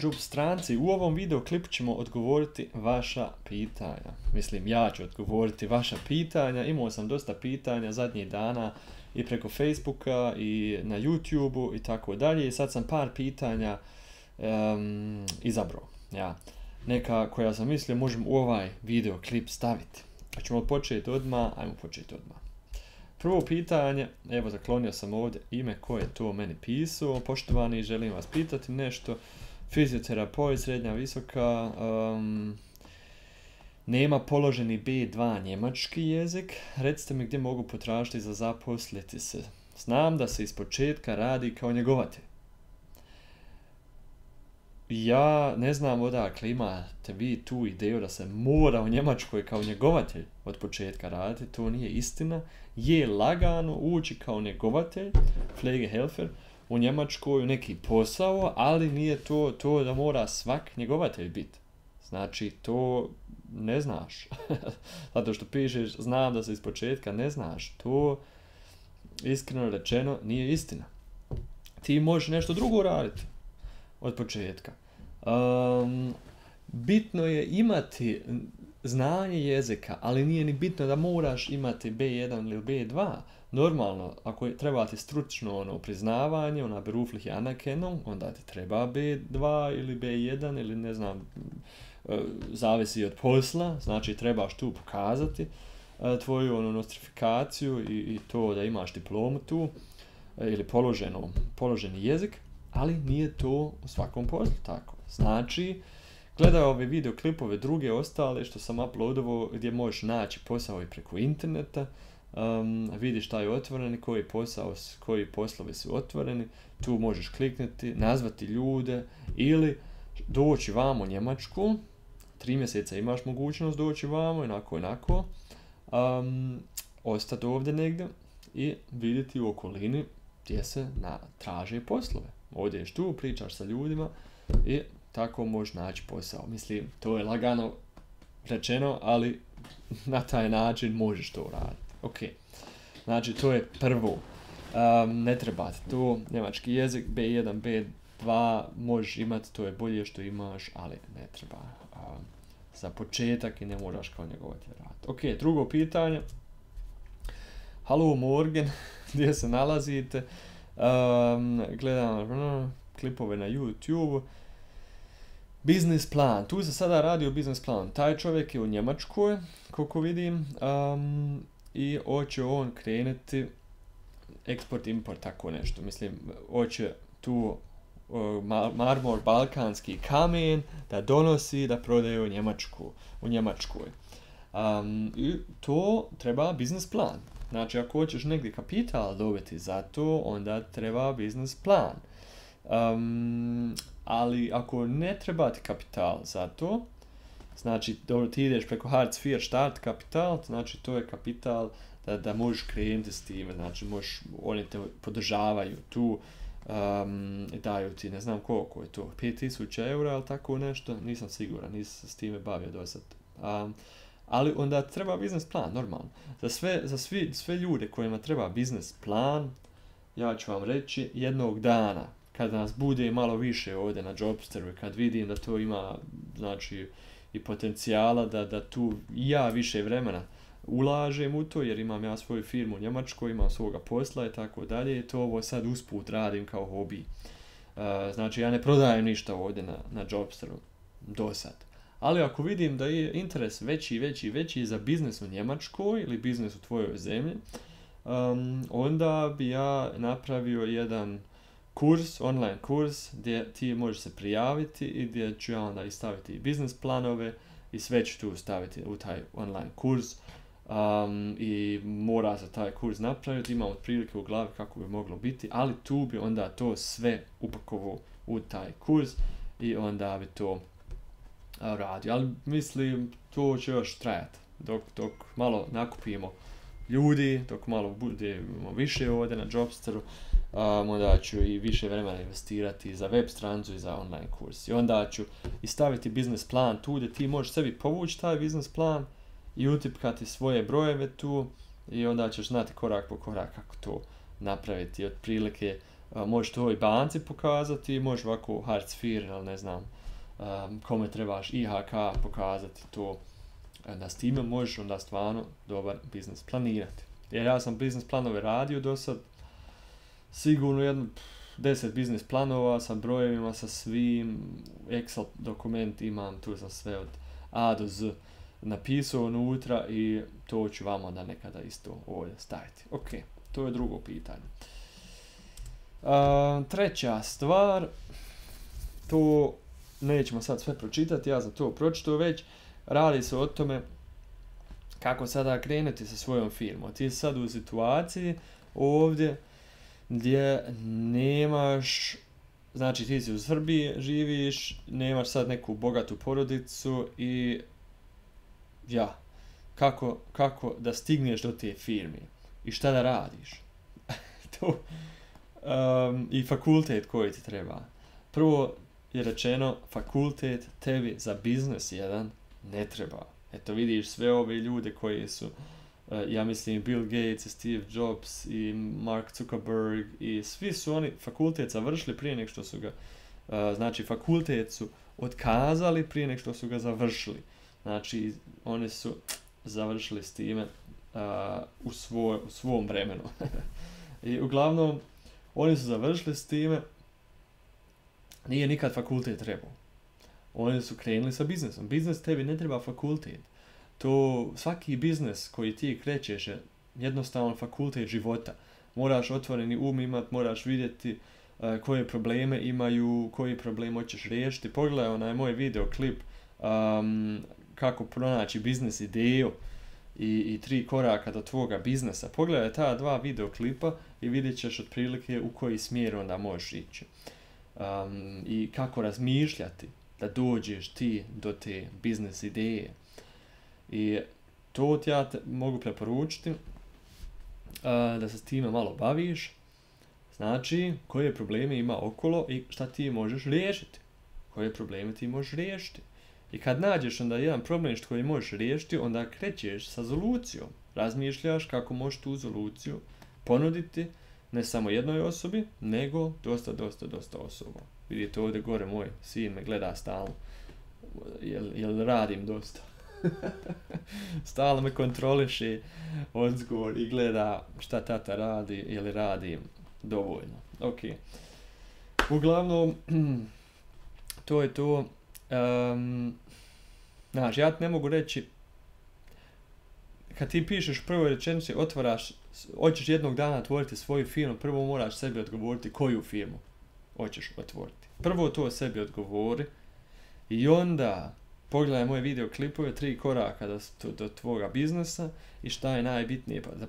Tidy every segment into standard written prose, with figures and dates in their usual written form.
Žup stranci, u ovom video klipu ćemo odgovoriti vaša pitanja. Mislim, ja ću odgovoriti vaša pitanja. Imao sam dosta pitanja zadnjih dana i preko Facebooka i na YouTubeu i tako dalje. I sad sam par pitanja izabrao. Ja. Neka koja sam mislio možemo u ovaj video klip staviti. Ćemo početi odmah, ajmo početi odmah. Prvo pitanje, evo zaklonio sam ovdje ime ko je to meni pisao. Poštovani, želim vas pitati nešto. Fizioterapeut, srednja visoka, nema položeni B2 njemački jezik. Recite mi gdje mogu potražiti za zaposliti se. Znam da se ispočetka radi kao njegovatelj. Ja ne znam odakle imate vi tu ideju da se mora u Njemačkoj kao njegovatelj od početka raditi. To nije istina. Je lagano ući kao njegovatelj, Pflegehelfer, u Njemačkoj u neki posao, ali nije to da mora svak njegovatelj biti. Znači, to ne znaš. Zato što pišeš, znam da se ispočetka, ne znaš. To, iskreno rečeno, nije istina. Ti možeš nešto drugo raditi od početka. Bitno je imati znanje jezika, ali nije ni bitno da moraš imati B1 ili B2. Normalno, ako treba ti stručno priznavanje, berufliche Anerkennung, onda ti treba B2 ili B1 ili ne znam, zavisi od posla, znači trebaš tu pokazati tvoju nostrifikaciju i to da imaš diplomu tu ili položeni jezik, ali nije to u svakom poslu tako. Znači, gledaj ove videoklipove druge ostale što sam uploadovao gdje možeš naći posao i preko interneta, vidi šta je otvoreni, koji poslovi su otvoreni, tu možeš kliknuti, nazvati ljude ili doći vamo u Njemačku, 3 mjeseca imaš mogućnost doći vamo, onako, ostati ovdje negdje i vidjeti u okolini gdje se traže poslove. Odeš tu, pričaš sa ljudima i tako možeš naći posao. Mislim, to je lagano rečeno, ali na taj način možeš to raditi. Ok, znači to je prvo. Ne treba ti to, njemački jezik, B1, B2 možeš imati, to je bolje što imaš, ali ne treba. Za početak i ne moraš kao njegovatelj raditi. Ok, drugo pitanje. Halo Morgen, gdje se nalazite? Gledam klipove na YouTube. Biznis plan. Tu se sada radi o biznis planu. Taj čovjek je u Njemačkoj, koliko vidim, i hoće on krenuti eksport, import, tako nešto. Mislim, hoće tu marmor, balkanski kamen da donosi, da prodaje u Njemačkoj. I to treba biznis plan. Znači, ako hoćeš negdje kapital dobiti za to, onda treba biznis plan. Ali ako ne treba ti kapital za to, znači ti ideš preko Hartz IV start kapital, znači to je kapital da možeš krenuti s time, znači oni te podržavaju tu, daju ti, ne znam koliko je to, 5000 eura ili tako nešto, nisam siguran, nisam s time bavio do sad. Ali onda treba biznis plan, normalno. Za sve ljude kojima treba biznis plan, ja ću vam reći, jednog dana, kada nas bude malo više ovdje na Jobsteru, kad vidim da to ima, znači, i potencijala da tu ja više vremena ulažem u to, jer imam ja svoju firmu u Njemačkoj, imam svoga posla i tako dalje, i to ovo sad usput radim kao hobi. Znači, ja ne prodajem ništa ovdje na Jobsteru do sad. Ali ako vidim da je interes veći za biznis u Njemačkoj ili biznis u tvojoj zemlji, onda bi ja napravio jedan online kurs gdje ti možeš se prijaviti i gdje ću ja onda i staviti biznis planove i sve ću tu staviti u taj online kurs. I mora se taj kurs napraviti, imam otprilike u glavi kako bi moglo biti, ali tu bi onda to sve upakovao u taj kurs i onda bi to radio. Ali mislim, to će još trajati dok malo nakupimo ljudi, dok malo budemo više ovdje na Jobsteru, onda ću i više vremena investirati za web stranicu i za online kurs. I onda ću i staviti biznis plan tu gdje ti možeš sebi povući taj biznis plan i utipkati svoje brojeve tu i onda ćeš znati korak po korak kako to napraviti. Otprilike možeš to i banci pokazati, možeš ovako Hartz-IV, ili ne znam, kome trebaš IHK pokazati to, da s time možeš onda stvarno dobar biznis planirati. Jer ja sam biznis planove radio do sad, sigurno 10 biznis planova sa brojevima, sa svim, Excel dokument imam, tu sam sve od A do Z napisao unutra i to ću vam onda nekada isto ovdje staviti. Ok, to je drugo pitanje. Treća stvar, to nećemo sad sve pročitati, ja sam to pročitao već, radi se o tome kako sada krenuti sa svojom firmom. Ti si sad u situaciji ovdje gdje nemaš, znači ti si u Srbiji, živiš, nemaš sad neku bogatu porodicu i kako da stigneš do te firme i šta da radiš. To, i fakultet koji ti treba. Prvo je rečeno, fakultet tebi za biznis jedan ne treba. Eto vidiš sve ove ljude koji su, ja mislim Bill Gates, Steve Jobs i Mark Zuckerberg i svi su oni fakultet završili prije nego što su ga, znači fakultet su otkazali prije nego što su ga završili. Znači oni su završili s time u svom vremenu. I uglavnom oni su završili s time, nije nikad fakultet trebao. Oni su krenuli sa biznesom. Biznes tebi ne treba fakultet. To svaki biznes koji ti krećeš je jednostavno fakultet života. Moraš otvoreni um imat, moraš vidjeti koje probleme imaju, koji problem hoćeš riješiti. Pogledaj onaj moj videoklip kako pronaći biznes ideju i 3 koraka do tvoga biznesa. Pogledaj ta 2 videoklipa i vidjet ćeš otprilike u koji smjer onda možeš ići. I kako razmišljati da dođeš ti do te biznes ideje. I to ti ja mogu preporučiti da se s time malo baviš. Znači, koje probleme ima okolo i šta ti možeš riješiti. Koje probleme ti možeš riješiti. I kad nađeš onda jedan problem koji možeš riješiti, onda krećeš sa solucijom. Razmišljaš kako možeš tu soluciju ponuditi ne samo jednoj osobi, nego dosta osoba. Vidite ovdje gore, moj sin me gleda stalno. Jel radim dosta? Stalno me kontroliše odzgor i gleda šta tata radi, ili radim dovoljno. Ok. Uglavnom, to je to. Znači, ja ti ne mogu reći, kad ti pišeš prvoj rečenici, hoćeš jednog dana otvoriti svoju firmu, prvo moraš sebi odgovoriti koju firmu hoćeš otvoriti. Prvo to sebi odgovori i onda pogledaj moje videoklipove, 3 koraka do tvoga biznesa i šta je najbitnije da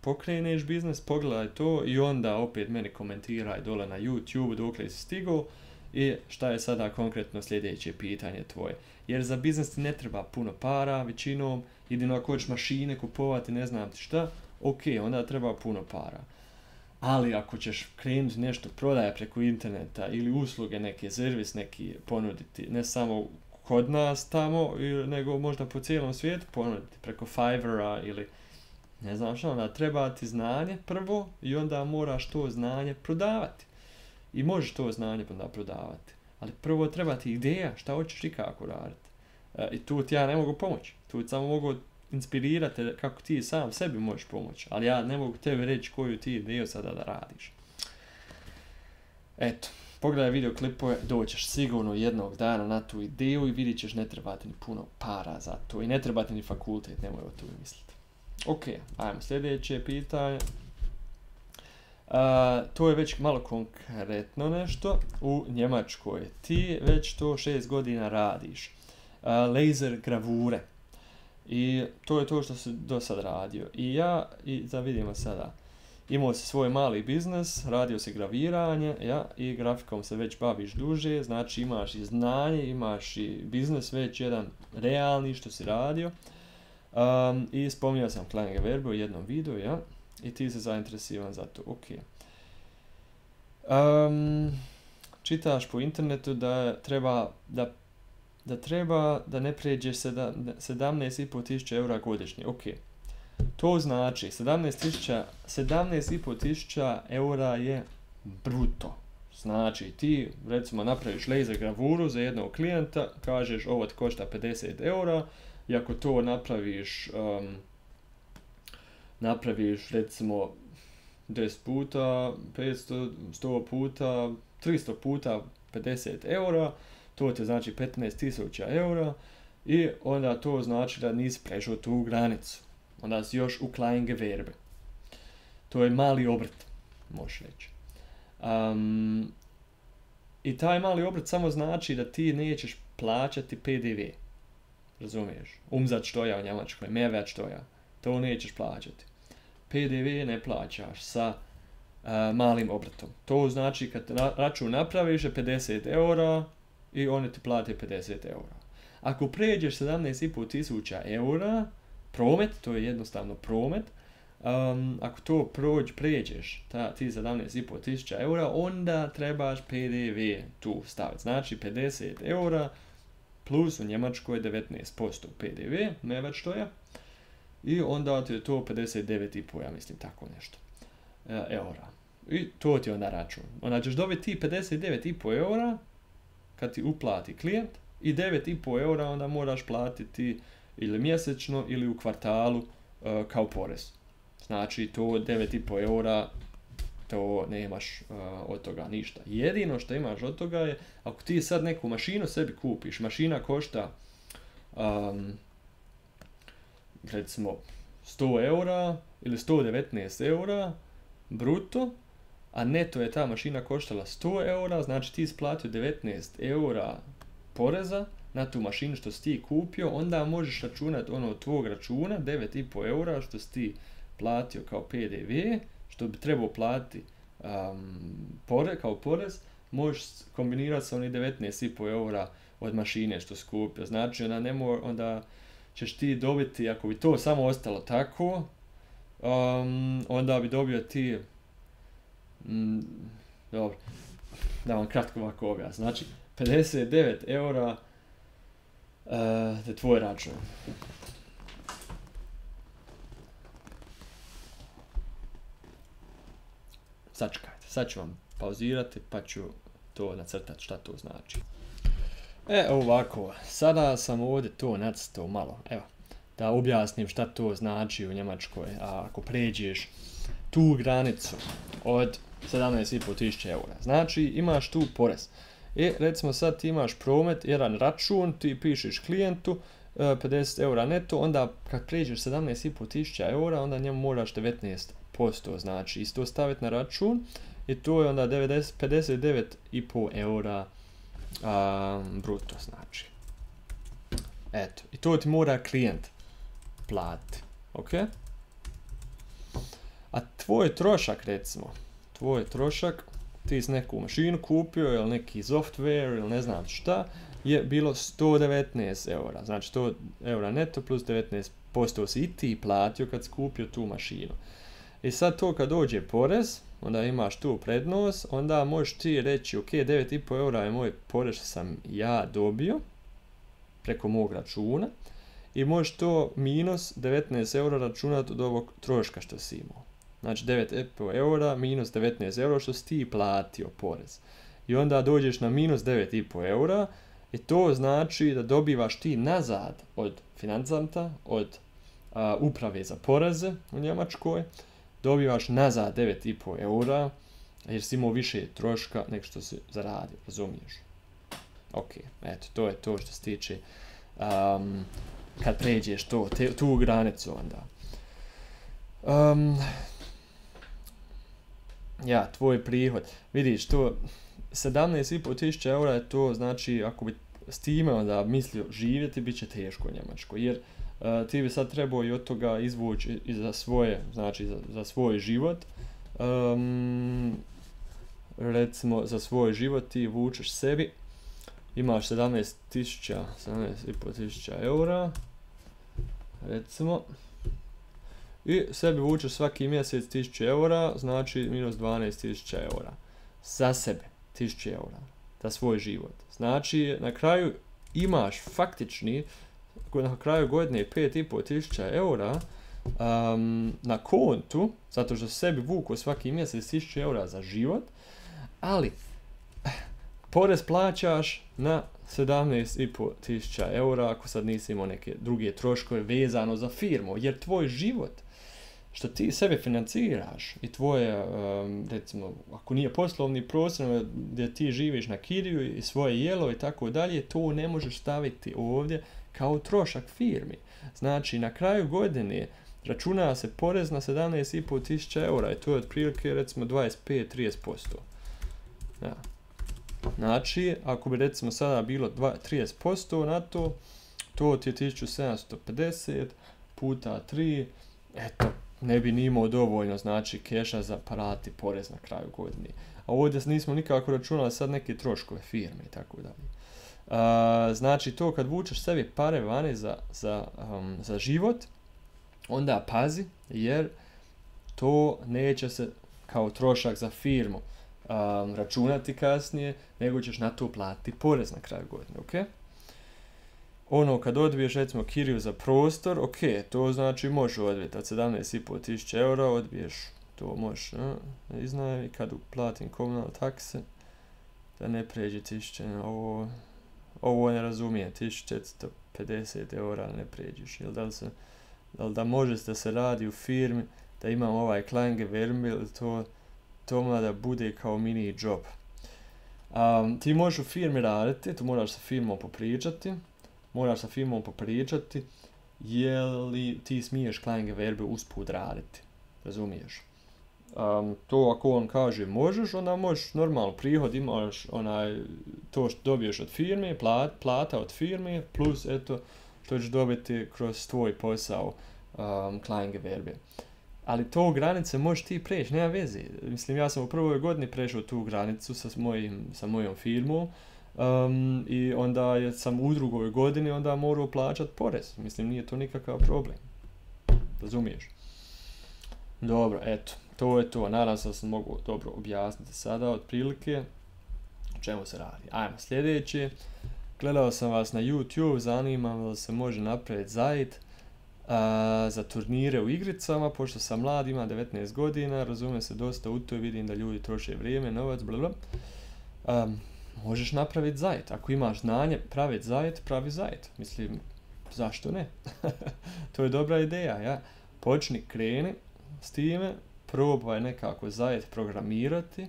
pokreneš biznis, pogledaj to i onda opet meni komentiraj dole na YouTube dokle si stigao i šta je sada konkretno sljedeće pitanje tvoje. Jer za biznis ti ne treba puno para, većinom, jedino ako hoćeš mašine kupovati, ne znam ti šta, ok, onda treba puno para. Ali ako ćeš krenuti nešto prodaje preko interneta ili usluge neke, servis neki ponuditi, ne samo kod nas tamo, nego možda po cijelom svijetu ponuditi preko Fivera ili ne znam što, onda treba ti znanje prvo i onda moraš to znanje prodavati. I možeš to znanje onda prodavati. Ali prvo treba ti ideja šta hoćeš i kako raditi. I tu ti ja ne mogu pomoći. Tu ti samo mogu inspirirati kako ti sam sebi možeš pomoći. Ali ja ne mogu tebi reći koju ti ideju sada da radiš. Eto, pogledaj videoklipove, doćeš sigurno jednog dana na tu ideju i vidit ćeš ne treba ti ni puno para za to. I ne treba ti ni fakultet, nemoj o to misliti. Ok, ajmo sljedeće pitanje. To je već malo konkretno nešto. U Njemačkoj ti već to 6 godina radiš. Laser gravure. I to je to što si do sad radio. Da vidimo sada. Imao si svoj mali biznis, radio si graviranje, i grafikom se već baviš duže, znači imaš i znanje, imaš i biznis već jedan realni što si radio. I spominjao sam Kleingewerbe u jednom videu, i ti se zainteresiran za to, ok. Čitaš po internetu da ne pređe 17.500 eura godišnje, ok. To znači 17.500 eura je bruto. Znači ti recimo napraviš laser gravuru za jednog klijenta, kažeš ovo ti košta 50 eura i ako to napraviš recimo 10 puta, 500, 100 puta, 300 puta 50 eura, to ti znači 15.000 eura i onda to znači da nisi prešao tu granicu. Onda si još u Kleingewerbe. To je mali obrt, možeš reći. I taj mali obrt samo znači da ti nećeš plaćati PDV. Razumiješ? Umsatzsteuer u Njemačkoj, Mehrwertsteuer. To nećeš plaćati. PDV ne plaćaš sa malim obrtom. To znači kad račun napraviš je 50 eura i oni ti plate 50 eura. Ako pređeš 17.500 eura, promet, to je jednostavno promet, ako to pređeš, ti 17.500 eura, onda trebaš PDV tu staviti. Znači 50 eura plus u Njemačkoj 19% PDV, Mehrwertsteuer, i onda ti je to 59,5, ja mislim tako nešto, eura. I to ti je onda račun. Onda ćeš dobiti ti 59,5 eura kad ti uplati klijent i 9,5 eura onda moraš platiti ili mjesečno ili u kvartalu kao porez. Znači to 9,5 eura, to nemaš od toga ništa. Jedino što imaš od toga je, ako ti sad neku mašinu sebi kupiš, mašina košta recimo 100 eura ili 119 eura bruto, a neto je ta mašina koštala 100 eura, znači ti isplatio 19 eura poreza na tu mašinu što si ti kupio, onda možeš računati ono od tvog računa 9,5 eura što si ti platio kao PDV, što bi trebao platiti kao porez, možeš kombinirati sa onih 19,5 eura od mašine što si kupio. Znači onda ćeš ti dobiti, ako bi to samo ostalo tako, onda bi dobio ti, dobro, da vam kratko ovako objasnim. Znači 59 eura je tvoj račun. Sačekajte, sad ću vam pauzirati pa ću to nacrtati šta to znači. Ovako, sada sam ovdje to nacrtao malo, evo, da objasnim šta to znači u Njemačkoj, ako pređeš tu granicu od 17.500 eura. Znači imaš tu porez. Recimo sad ti imaš promet, jedan račun, ti pišeš klijentu 50 eura neto, onda kad pređeš 17.500 eura, onda njemu moraš 19%, znači isto staviti na račun i to je onda 59,5 eura bruto, znači. Eto, i to ti mora klijent platiti, ok? A tvoj trošak, recimo, ti si neku mašinu kupio ili neki software ili ne znam šta, je bilo 119 eura. Znači 100 eura neto plus 19% si i ti platio kad si kupio tu mašinu. I sad to kad dođe porez, onda imaš tu prednost, onda možeš ti reći ok, 9,5 eura je moj porez što sam ja dobio preko mog računa i možeš to minus 19 eura računati od ovog troška što si imao. Znači 9,5 eura minus 19 eura što si ti platio porez. I onda dođeš na minus 9,5 eura i to znači da dobivaš ti nazad od financanta, od uprave za poreze u Njemačkoj, dobivaš nazad 9,5 eura jer si imao više troška nego što si zaradio, razumiješ? Ok, eto, to je to što se tiče kad pređeš tu granicu onda. Tvoj prihod. Vidiš, to 17.500 eura je to, znači, ako bi s time onda mislio živjeti, bit će teško u Njemačkoj, jer ti bi sad trebao i od toga izvući i za svoje, znači za svoj život. Recimo, za svoj život ti vučeš sebi, imaš 17.500 eura, recimo, i sebi vučeš svaki mjesec 1000 eura, znači minus 12.000 eura. Za sebe 1000 eura, za svoj život. Znači, na kraju imaš faktični, na kraju godine 5.500 eura, na kontu, zato što sebi vuku svaki mjesec 1000 eura za život, ali porez plaćaš na 17.500 eura ako sad nisi imao neke druge troškove vezano za firmu, jer tvoj život što ti sebe financiraš i tvoje, recimo, ako nije poslovni prostor gdje ti živiš na kiriju i svoje jelo i tako dalje, to ne možeš staviti ovdje kao trošak firmi. Znači, na kraju godine računa se porez na 17.500 eura i to je otprilike, recimo, 25-30%. Ja. Znači, ako bi, recimo, sada bilo 30% na to, to ti je 1750 puta 3, eto, ne bi ni imao dovoljno, znači, keša za platiti porez na kraju godine. A ovdje nismo nikako računali sad neke troškove firme i tako dalje. Znači, to kad vučeš sebi pare vani za život, onda pazi, jer to neće se kao trošak za firmu računati kasnije, nego ćeš na to platiti porez na kraju godine, ok? Ono, kad odbiješ, recimo, kiriju za prostor, ok, to znači možeš odbiti od 17.500 eura, odbiješ, to možeš, iznajmi, kad platim komunalne takse, da ne pređe 1000, ovo ne razumijem, 1450 eura ne pređeš, ili da može da se radi u firmi, da imam ovaj Kleingewerbe, to mada bude kao mini job. Ti možeš u firmi raditi, tu moraš sa firmom popričati, je li ti smiješ Kleingewerbe usput raditi, razumiješ? To ako on kaže možeš, onda možeš normalno prihod, imaš to što dobiješ od firme, plata od firme, plus eto što ćeš dobiti kroz tvoj posao Kleingewerbe. Ali to granice možeš ti preći, nema veze. Mislim, ja sam u prvoj godini prešao tu granicu sa mojom firmom i onda sam u drugoj godini onda morao plaćati porez. Mislim, nije to nikakav problem. Razumiješ? Dobro, eto, to je to. Nadam se da sam mogu dobro objasniti sada otprilike o čemu se radi. Ajmo sljedeće. Gledao sam vas na YouTube, zanima me da se može napraviti zajt za turnire u igricama, pošto sam mlad, imam 19 godina, razumijem se dosta u to i vidim da ljudi troše vrijeme, novac, blablabla. Možeš napraviti zajt. Ako imaš znanje, pravi zajt. Mislim, zašto ne? To je dobra ideja, ja. Počni, kreni s time, probaj nekako zajt programirati,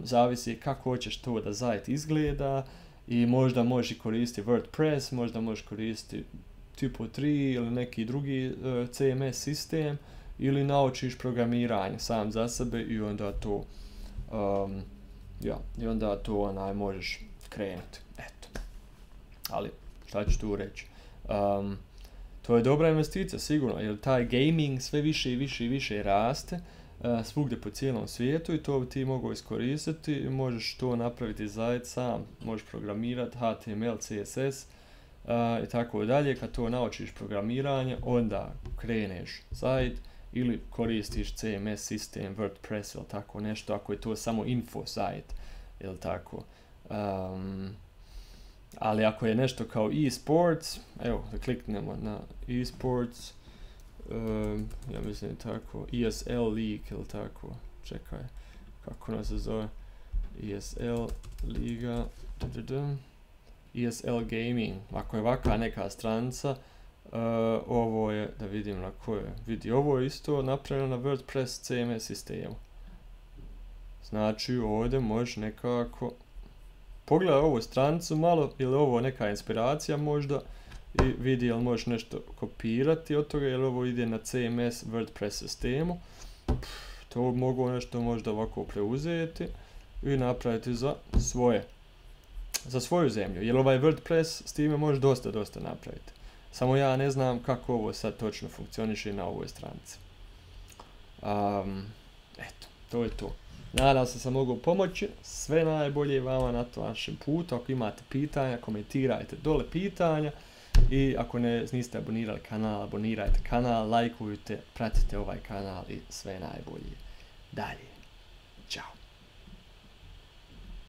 zavisi kako hoćeš to da zajt izgleda i možda možeš koristiti WordPress, možda možeš koristiti Typo 3 ili neki drugi CMS sistem ili naučiš programiranje sam za sebe i onda to možeš krenuti. Eto. Ali, šta ću tu reći? To je dobra investicija, sigurno, jer taj gaming sve više i više raste svugdje po cijelom svijetu i to bi ti mogao iskoristiti. Možeš to napraviti zajt sam, možeš programirati HTML, CSS i tako dalje. Kad to naučiš programiranje, onda kreneš zajt ili koristiš CMS sistem, WordPress ili tako nešto, ako je to samo info zajt ili tako. Ali ako je nešto kao e-sports, evo da kliknemo na e-sports, ja mislim tako, ESL League ili tako, čekaj, kako ona se zove, ESL Liga, ESL Gaming, ako je ovakva neka stranica, ovo je, da vidim na koje, vidi, ovo je isto napravljeno na WordPress CMS sistemu. Znači ovdje možeš nekako pogledaj ovu stranicu malo, ili ovo neka inspiracija možda, i vidi jel možeš nešto kopirati od toga, jel ovo ide na CMS WordPress sistemu. To mogu nešto možda ovako preuzeti i napraviti za svoju zemlju, jer ovaj WordPress s time možeš dosta napraviti. Samo ja ne znam kako ovo sad točno funkcioniše na ovoj stranici. Eto, to je to. Nadam se sam mogu pomoći, sve najbolje vama na to vašem putu. Ako imate pitanja, komentirajte dole pitanja i ako niste abonirajte kanal, lajkujte, pratite ovaj kanal i sve najbolje dalje. Ćao!